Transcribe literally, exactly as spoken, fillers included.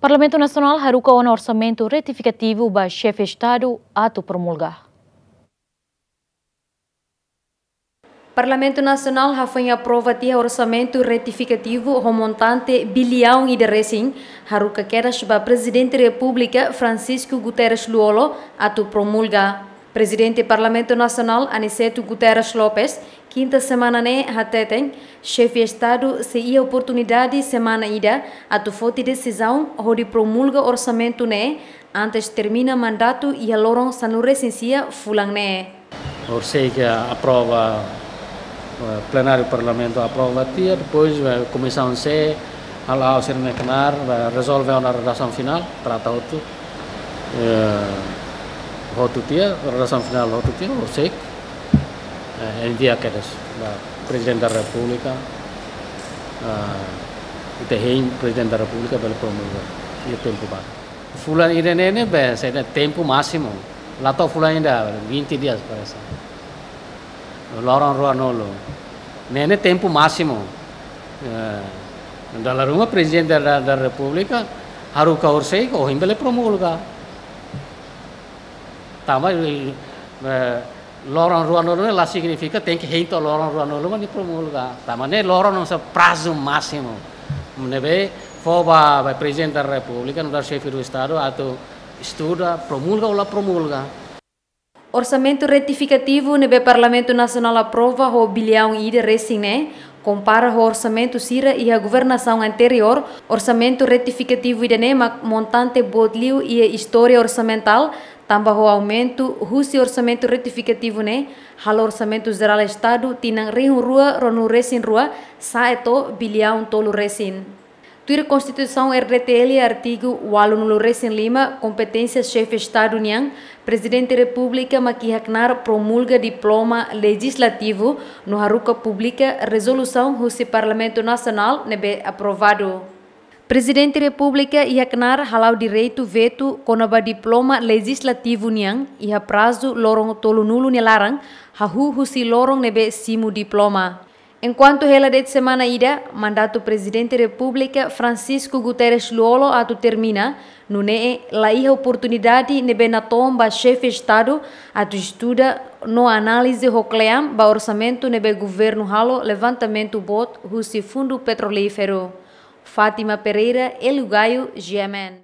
Parlamentu Nasionál haruka ona orsamentu retifikativu ba Xefe Estadu atu promulga. Parlamentu Nasionál hafoin aprova tiha orsamentu retifikativu ho montante biliaun ida resin, haruka kedas ba Prezidente Repúblika Francisco Guterres Lú-Olo atu promulga. Prezidente Parlamentu Nasionál Aniceto Guterres Lopes, kinta semana ne'e hateten, Xefe Estadu sei iha oportunidade semana ida atu foti desizaun hodi promulga orsamentu ne'e antes termina mandatu iha loron sanulu-resin-sia fulan ne'e. Horisehik aprova, eh, plenáriu Parlamentu aprova tiha, depois, eh, Komisaun C, hala'o sira-ne'e knaar, eh, rezolve ona redasaun finál, trata hotu, eh, hotu tiha, redasaun finál hotu tiha, horisehik, eh, envia kedas ba Prezidente da Repúblika, eh, ita hein Prezidente da Repúblika bele promulga iha tempu badak. Fulan ida ne'e ne'ebé, sei iha tempu másimu. La to'o fulan ida, vinte dias parese. Loron ruanulu. Ne'e ne'e tempu másimu. Eh, dala ruma Prezidente da, da Repúblika haruka horisehik, ohin bele promulga. Tanba, eh, loron ruanulu ne'e la signifika tenke hein to'o loron ruanulu mak nia promulga. Tanba ne'e loron ne'e hanesan prazu másimu ne'ebé fó ba, ba Prezidente da Repúblika, nu'udar Xefe do Estadu, atu estuda, promulga ou la promulga. Orsamentu retifikativu ne'ebé Parlamentu Nasionál aprova ho biliaun ida resin ne'e, kompara ho orsamentu sira iha governasaun anteriór, orsamentu retifikativu ida-ne'e mak montante boot liu iha istória orsamentál, tanba ho aumentu husi orsamentu retifikativu ne'e, halo Orsamentu Jerál Estadu tinan rihun rua ruanulu-resin-rua sa'e to'o biliaun tolu resin. Tuir Konstituisaun R D T L artigu ualunulu-resin-lima, kompeténsia Xefe Estadu nian, Prezidente Repúblika mak iha knaar promulga diploma lejizlativu no haruka publika rezolusaun husi Parlamentu Nasionál ne'ebé aprovadu. Prezidente Repúblika iha knaar hala'o direitu vetu kona-ba diploma lejizlativu nian iha prazu loron tolunulu nia laran, hahú husi loron ne'ebé simu diploma. Enkuantu hela de'it semana ida, mandatu Prezidente Repúblika Francisco Guterres Lú-Olo atu termina, nune'e la iha oportunidade ne'ebé natoon ba Xefe Estadu atu estuda no análize ho kle'an ba orsamentu ne'ebé governu halo levantamentu boot husi Fundu Petrolíferu. Fátima Pereira, Hélio Gaio, G M N.